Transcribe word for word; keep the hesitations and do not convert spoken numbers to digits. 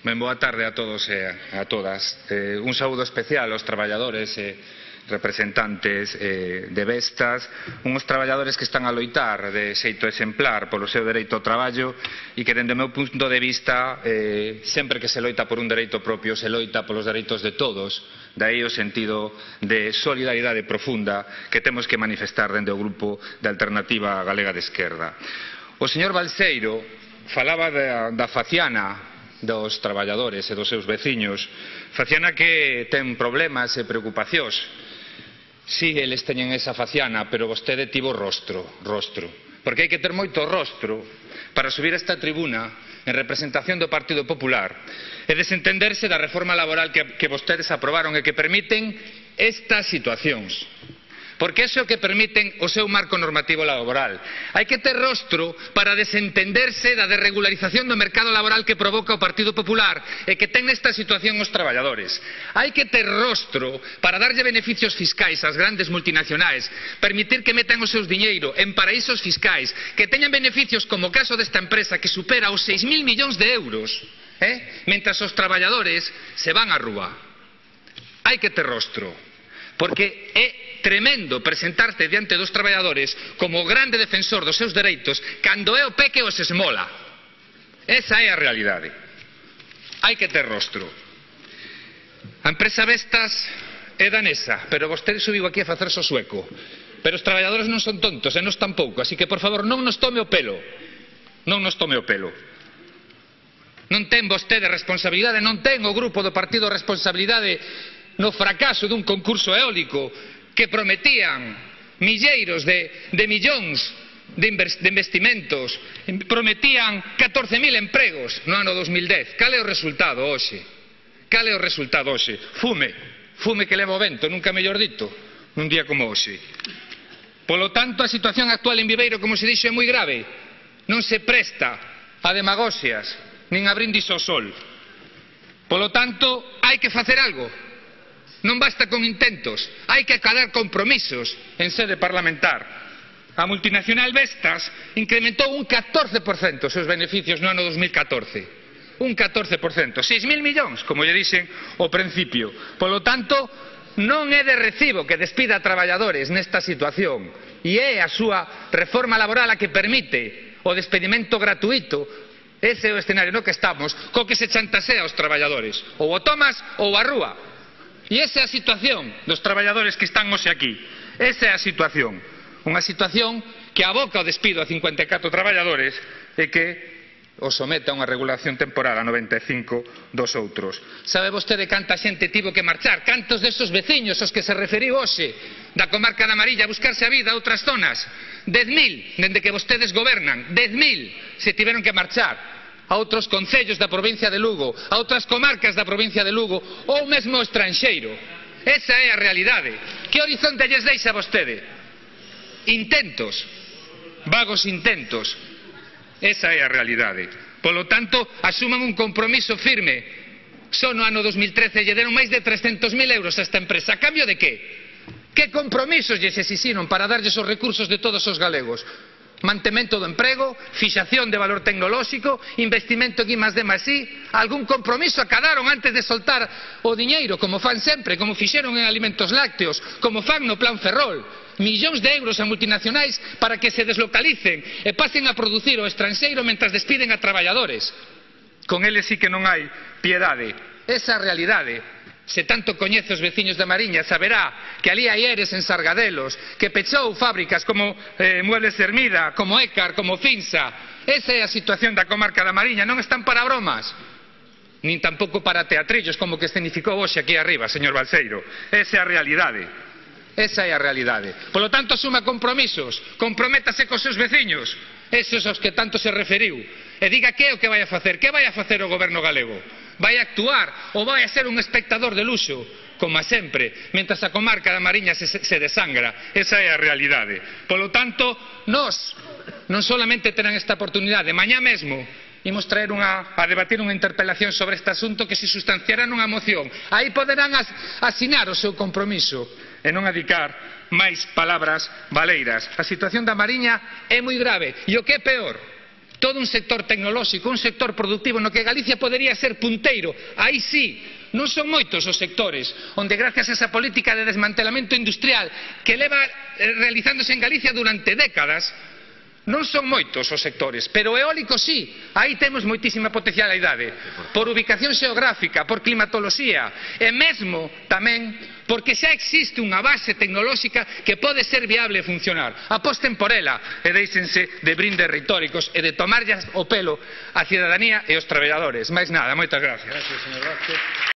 Ben, boa tarde a todos e a todas. Eh, un saúdo especial aos traballadores e representantes eh, de Vestas, uns traballadores que están a loitar de xeito exemplar polo seu dereito ao traballo e que, dende o meu punto de vista, eh, sempre que se loita por un dereito propio, se loita polos dereitos de todos. Daí o sentido de solidaridade profunda que temos que manifestar dende o grupo de Alternativa Galega de Esquerda. O señor Balseiro falaba da, da faciana dos traballadores e dos seus veciños, faciana que ten problemas e preocupacións. Si, eles teñen esa faciana, pero vostede tivo rostro, rostro. Porque hai que ter moito rostro para subir a esta tribuna en representación do Partido Popular e desentenderse da reforma laboral que, que vostedes aprobaron e que permiten estas situacións. Porque iso é o que permiten o seu marco normativo laboral. Hai que ter rostro para desentenderse da desregularización do mercado laboral que provoca o Partido Popular e que ten nesta situación os traballadores. Hai que ter rostro para darlle beneficios fiscais ás grandes multinacionais, permitir que metan o seus diñeiro en paraísos fiscais, que teñan beneficios como o caso desta empresa que supera os seis mil millóns de euros, eh? mentras os traballadores se van á rúa. Hai que ter rostro, porque é tremendo presentarte diante dos traballadores como o grande defensor dos seus dereitos cando é o P que os esmola. Esa é a realidade. Hai que ter rostro. A empresa Vestas é danesa, pero vostede subiu aquí a facerse o sueco. Pero os traballadores non son tontos e nós tampouco, así que por favor non nos tome o pelo. Non nos tome o pelo. Non ten vostede responsabilidade, non ten o grupo do partido responsabilidade no fracaso dun concurso eólico que prometían milleiros de, de millóns de, de investimentos, prometían catorce mil empregos no ano dos mil dez. Cal é o resultado hoxe? Cal é o resultado hoxe? Fume, fume que leva o vento, nunca mellor dito, nun día como hoxe. Polo tanto, a situación actual en Viveiro, como se dixo, é moi grave. Non se presta a demagoxias, nin a brindis ao sol. Polo tanto, hai que facer algo. Non basta con intentos, hai que acadar compromisos en sede parlamentar. A multinacional Vestas incrementou un catorce por cento os seus beneficios no ano dos mil catorce. Un catorce por cento, seis mil millóns, como lle dixen ao principio. Polo tanto, non é de recibo que despida a traballadores nesta situación, e é a súa reforma laboral a que permite o despedimento gratuito. Ese é o escenario no que estamos, co que se chantasea aos traballadores. Ou o tomas ou a rúa. E esa é a situación dos traballadores que están hoxe aquí. Esa é a situación. Unha situación que aboca o despido a cincuenta e catro traballadores e que os somete a unha regulación temporal a noventa e cinco dos outros. Sabe vostede canta xente tivo que marchar? Cantos desos veciños aos que se referiu hoxe da comarca da Mariña a buscarse a vida a outras zonas? Dez mil, dende que vostedes gobernan, dez mil se tiveron que marchar a outros concellos da provincia de Lugo, a outras comarcas da provincia de Lugo ou mesmo ao estranxeiro. Esa é a realidade. Que horizonte lles deixa a vostede? Intentos, vagos intentos. Esa é a realidade. Polo tanto, asuman un compromiso firme. Só no ano dos mil trece lle deron máis de trescentos mil euros a esta empresa. A cambio de que? Que compromisos lles exixiron para darlles os recursos de todos os galegos? Mantemento do emprego, fixación de valor tecnolóxico, investimento en I más D más I, algún compromiso acadaron antes de soltar o diñeiro, como fan sempre, como fixeron en alimentos lácteos, como fan no plan Ferrol, millóns de euros a multinacionais para que se deslocalicen e pasen a producir ao estranxeiro mentras despiden a traballadores. Con eles sí que non hai piedade. Esa é a realidade. Se tanto coñece os veciños da Mariña, saberá que ali hai eres en Sargadelos, que pechou fábricas como eh, Muebles Hermida, como Écar, como Finsa. Esa é a situación da comarca da Mariña. Non están para bromas, nin tampouco para teatrillos como que escenificou hoxe aquí arriba, señor Balseiro. Esa é a realidade. Esa é a realidade. Polo tanto, asuma compromisos, comprométase cos seus veciños, esos aos que tanto se referiu, e diga que é o que vai a facer. Que vai a facer o goberno galego? Vai a actuar ou vai a ser un espectador de luxo, como a sempre, mentras a comarca da Mariña se, se desangra? Esa é a realidade. Polo tanto, nós non solamente terán esta oportunidade, mañá mesmo imos traer unha, a debatir unha interpelación sobre este asunto que se sustanciará nunha moción. Aí poderán as, asinar o seu compromiso e non adicar máis palabras baleiras. A situación da Mariña é moi grave e o que é peor, todo un sector tecnolóxico, un sector productivo no que Galicia podería ser punteiro. Aí sí, non son moitos os sectores onde gracias a esa política de desmantelamento industrial que leva realizándose en Galicia durante décadas, non son moitos os sectores, pero o eólico sí, aí temos moitísima potencialidade, por ubicación xeográfica, por climatoloxía, e mesmo tamén porque xa existe unha base tecnolóxica que pode ser viable e funcionar. Aposten por ela e déixense de brindes retóricos e de tomarllas o pelo a cidadanía e os traballadores. Máis nada, moitas gracias.